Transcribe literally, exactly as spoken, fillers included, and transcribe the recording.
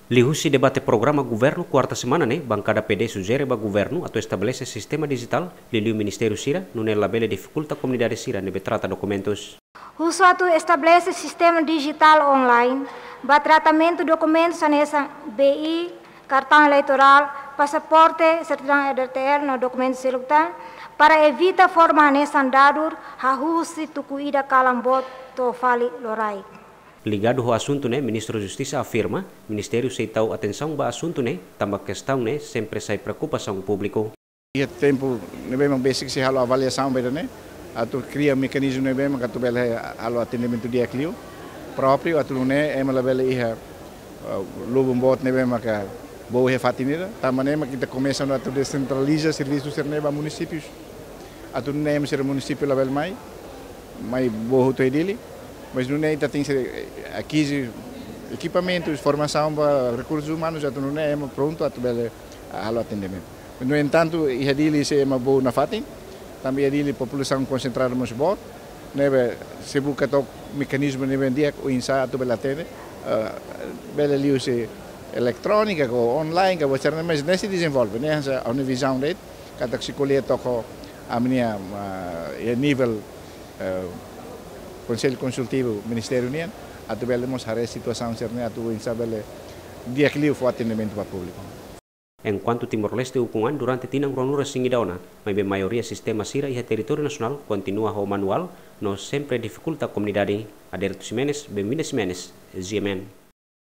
Liuhusi debate programa governu kuarta semana ne'e, bankada P D sujere ba governu atu estabelese sistema dijitál liuliu ministériu sira, nune'e labele difikulta komunidade sira ne'ebé trata dokumentus. Husu atu estabelese sistema dijitál online ba tratamentu dokumentus hanesan B I, kartaun eleitorál, pasaporte, sertidaun E D T L no dokumentu seluk tan, para evita forma hanesan dadur hahú husi tuku ida kalan boot to'o fali loraik. Ligadu ho asuntu ne'e, Ministru Justisa afirma, ministériu sei tau atensaun ba asuntu ne'e, tanba kestaun ne'e sempre sai preokupasaun públiku. Iha tempu ne'ebé mak besik sei halo avaliasaun ba ida-ne'e, atu kria mekanizmu ne'ebé mak atu bele halo atendimentu di'ak liu, própriu atu nune'e ema labele iha, ah, lubun boot ne'ebé maka boot iha fatin ida, tanba ne'e mak ita komesa ona atu desentraliza servisu sira-ne'e ba munisípius. Atu nune'e ema sira munisípiu labele mai, mai boot hotu iha Dili, mas nune'e ita tenke, eh, akizi ekipamentus, formasaun ba rekursus umanus, atu nune'e ema prontu atu bele, ah, halo atendimentu. No entantu, iha Dili sei ema boot nafatin, tanba iha Dili populasaun konsentradu mós boot, ne'ebé sei buka took mekanizmu ne'ebé di'ak oinsá atu bele atende, eh, bele liuhusi eletrónika, ka online, ka buat sira-ne'e, mas ne'e sei dezenvolve, ne'e hanesan ha'u-nia vizaun de'it, katak sei ko'alia took ho ami-nia, ah, iha nivel, eh, Konsellu Konsultivu Ministériu nian, atu bele mós haree situasaun sira-ne'e, atu oinsá bele di'ak liu fó atendimentu ba públiku. Enkuantu Timor-Leste ukun an durante tinan ruanulu-resin-ida ona, maibé maioria sistema sira iha territóriu nasionál kontinua ho manuál, no sempre difikulta komunidade. Aderito Ximenes, Benvinda Ximenes, G M N.